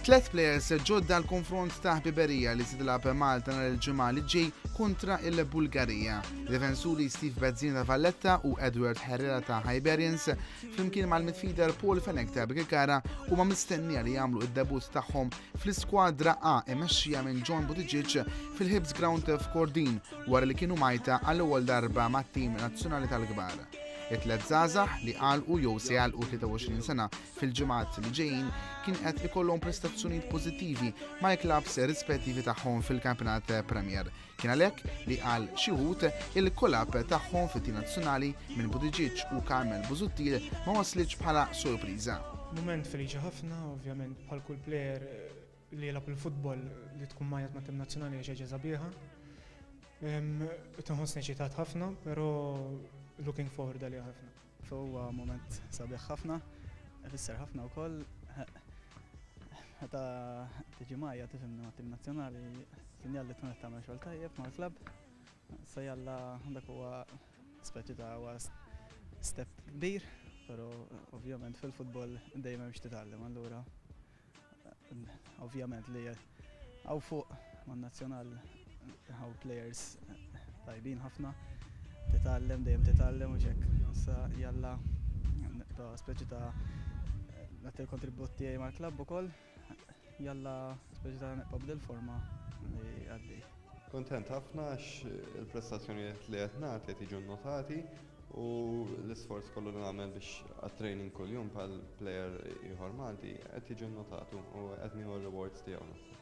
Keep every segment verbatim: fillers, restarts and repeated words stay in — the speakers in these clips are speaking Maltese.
Tlet players ġodda l-konfront ta' ħbiberija li se tilgħab Malta nhar il-Ġimgħa li ġej kontra il-Bulgarija. Difensuri Steve Bezzina ta' Valletta u Edward Herrera ta' Hibernians flimkien mal-midfielder Paul Fenech ta' Birkirkara huma mistennija li jagħmlu id-debut tagħhom fl-iskwadra A imexxija minn John Buttigieg fil-Hibs Ground f'Kordin wara li kienu mgħajta għall-ewwel darba mat-tim nazzjonali tal-kbar. It-tlet żgħażagħ li għalqu jew se jagħlqu tlieta u għoxrin sena fil-ġimgħat li ġejjin kien qed ikollhom prestazzjonijiet pożittivi mal-klabs rispettivi tagħhom fil-Kampjonat Premier. Kien għalhekk li għal xi wħud il-call-up tagħhom fit-tim nazzjonali minn Buttigieg u Carmel Busuttil ma waslitx bħala sorpriża. Moment feliċi ħafna, ovvjament, bħal kull player li jilgħab il-futbol, li tkun mgħajjat mat-tim nazzjonali hija xi ħaġa sabiħa. Tinħossni eċitat ħafna, però looking forward għalija ħafna. Huwa moment sabiħ ħafna, ifisser ħafna wkoll. Meta tiġi mgħajjat, tifhimni, mat-tim nazzjonali, sinjal li tkun qed tagħmel xogħol tajjeb mal-klabb. Sa jalla dak huwa speċi ta' huwa step kbir, però ovvjament fil-futbol dejjem hemm x'titgħallem, allura ovvjament li hawn fuq man-nazzjonal hawn players tajbin ħafna, titgħallem, dejjem titgħallem u hekk. Issa jalla nibqa' speċi ta' nagħti l-kontribut tiegħi mal-klabb ukoll, jalla speċi ta' nibqa' b'dil-forma li għaddej. Kontent ħafna għax il-prestazzjonijiet li qed nagħti qed jiġu notati u l-isforz kollu li nagħmel biex għat-training kuljum bħal player ieħor Malti qed jiġu notatu u qed nieħu r-rewards tiegħu, naħseb.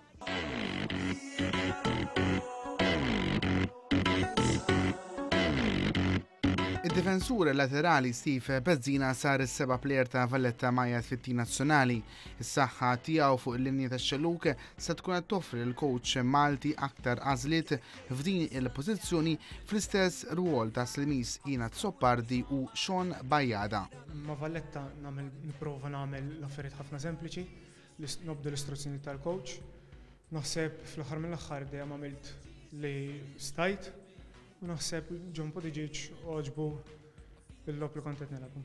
Id-difensur laterali Steve Bezzina sar is-seba' player ta' Valletta mgħajjat fit-tim nazzjonali. Is-saħħa tiegħu fuq il-linja tax-xellug se tkun qed toffri l-coach Malti aktar għażliet f'din il-pożizzjoni fl-istess rwol ta' Slimiż Ian Azzopardi u Sean Bajada. Ma' Valletta nagħmel nipprova nagħmel l-affarijiet ħafna sempliċi, nobdu l-istruzzjoni tal-coach. Naħseb fl-aħħar mill-aħħar dejjem għamilt li stajt u naħseb John Buttigieg għoġbu il-logħob li kont qed nilgħabu.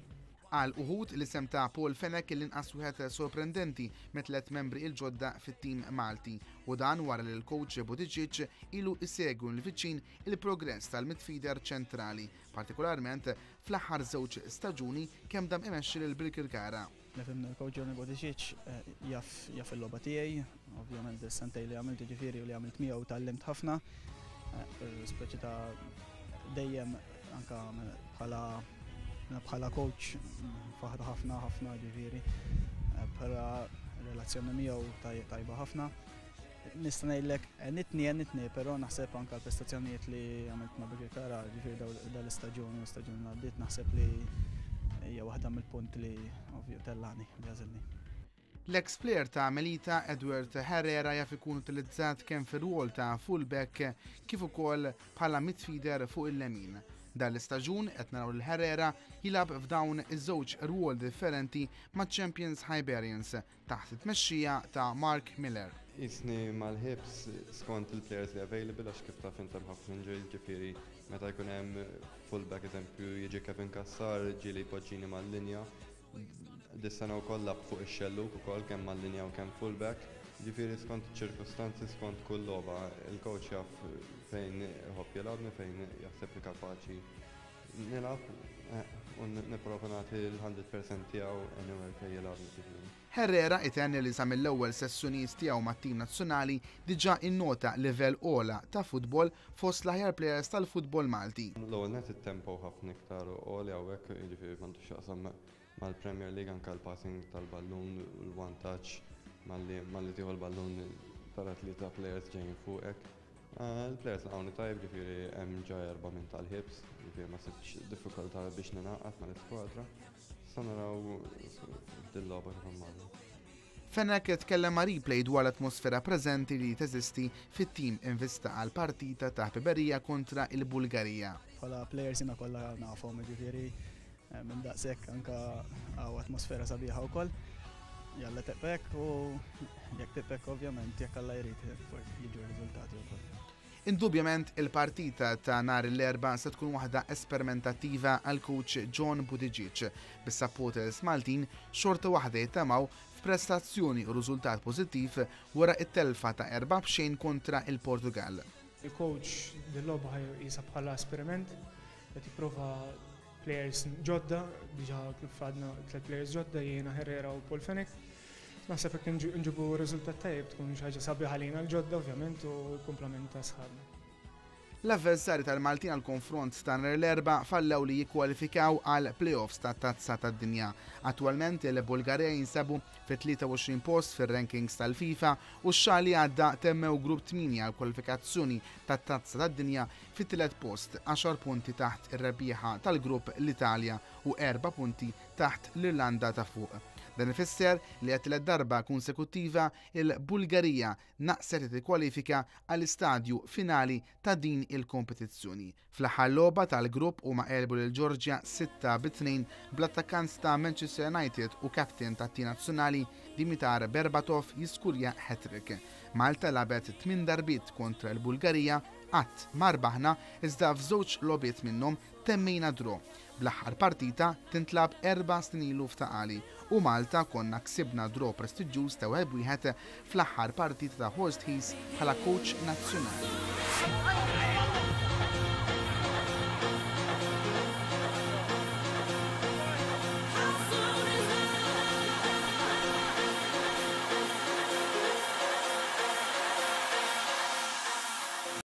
Għal uħud, l-isem ta' Paul Fenech l-inqas wieħed sorprendenti mit-tlet membri il-ġodda fit-tim Malti u dan wara li l-coach Buttigieg ilu isegwu l-viċin il-progress tal-midfielder ċentrali, partikolarment fl-aħħar żewġ staġuni kemm dam imexxi lil Birkirkara. Nifhimni, l-coach Johnny Buttigieg eh, jaf jaf il-logħba tiegħi, ovvjament is-sentej li għamilt, ġifieri, u li għamilt miegħu tgħallimt ħafna. Eh, speċi ta' dejjem anka bħala bħala coach faħra ħafna ħafna, ġifieri eh, bħala relazzjoni miegħu tajba ħafna. Nista' ngħidlek nitni nitni, però naħseb anka l-prestazzjonijiet li għamilt ma' Birkirkara, ġifieri dal-istaġun u l-istaġun li għaddiet, naħseb li hija waħda mill-punt li ovvju tellani li għażilni. L-ex player ta' Melita Edward Herrera jaf ikun utilizzat kemm fir-rwol ta' fullback kif ukoll bħala midfielder fuq il-lemin. Dan l-istaġun qed naraw lil Herrera jilgħab f'dawn iż-żewġ rwol differenti ma' Champions Hibernians taħt it-tmexxija ta' Mark Miller. Jisni mal-Hibs skont il-players li available, għax kif taf inti ħafna injuries, ġifieri meta jkun hemm fullback, eżempju, jiġi Kevin Cassar, ġieli jpoġġini mal-linja. Dis-sena wkoll lgħabt fuq ix-xellug ukoll, kemm mal-linja u kemm fullback. Ġifieri skont ċirkustanzi, skont kull logħba, il-coach jaf fejn iħobb jilgħabni, fejn jaħseb li kapaċi nilgħab eh, u nipprova nagħti l-mija fil-mija tiegħu anywhere fejn jilgħabni, ġifieri. Herrera itenni li sa mill-ewwel sessjonijiet tiegħu mat-tim nazzjonali diġà innota livell ogħla ta' futbol fost l-aħjar players tal-futbol Malti. L-ewwel net, it-tempo ħafna iktar għoli hawnhekk, jiġifieri m'għandux x'jaqsam mal-Premier League, anke l-passing tal-ballun, l-one touch, malli malli tieħu l-ballun tara tlieta players ġejjin fuqek. Eh, Il-players laqgħuni tajjeb, ġifieri hemm ġa erba' minn tal-Hibs, ġifieri ma sibtx diffikultà biex ningħaqad mal-iskwadra. Sa naraw dil-logħba kif immorru. Fenech tkellem ma' Replay dwar l-atmosfera preżenti li teżisti fit-tim in vista għal partita ta' ħbiberija kontra il-Bulgarija. Bħala players jiena kollha nafhom, ġifieri eh, minn daqshekk anka hawn atmosfera sabiħa wkoll. Jalla tibqa' hekk, u jekk tibqa' hekk, ovvjament, jekk Alla jrid, forsi jiġu r-riżultati wkoll. Indubjament il-partita ta' nhar l-Erbgħa se tkun waħda esperimentattiva għal coach John Buttigieg, bis-supporters Maltin xorta waħda jittamaw f'prestazzjoni u riżultat pożittiv wara it-telfa ta' erba' b'xejn kontra il-Portugal. Il-coach dil-logħba jisa bħala esperiment, qed jipprova players ġodda, diġà kif għadna tliet players ġodda, jiena, Herrera u Paul Fenech. Naħseb jekk nġibu riżultat tajjeb tkun xi ħaġa sabiħa għalina l-ġodda, ovvjament, u l-kumplament ta' sħabna. L-avversari tal-Maltin għal konfront ta' nhar l-Erbgħa fallew li jikkwalifikaw għal playoffs ta' Tazza tad-Dinja. Attualment il-Bulgarija jinsabu fit-tlieta u għoxrin post fir-rankings tal-FIFA u x-xahar li għadda temmew grupp tmienja għal kwalifikazzjoni ta' Tazza tad-Dinja fit-tielet post, għaxar punti taħt ir-rebbieħa tal-grupp l-Italja u erba' punti taħt l-Irlanda ta' Fuq. Dan ifisser li għat-tielet darba konsekuttiva il-Bulgarija naqset tikkwalifika għall-istadju finali ta' din il-kompetizzjoni. Fl-aħħar logħba tal-grupp huma għelbu lil Georgia sitta bi tnejn bl-attakkant ta' Manchester United u kapten tat-tim nazzjonali Dimitar Berbatov jiskurja hat-trick. Malta lagħbet tmien darbiet kontra l-Bulgarija, qatt ma rbaħna, iżda f'żewġ logħbiet minnhom temmejna draw. Bl-aħħar partita tintlagħab erba' snin ilu f'Ta' Qali u Malta konna ksibna draw prestiġjuż ta' wieħed wieħed fl-aħħar partita ta' Horst Hees bħala coach nazzjonali.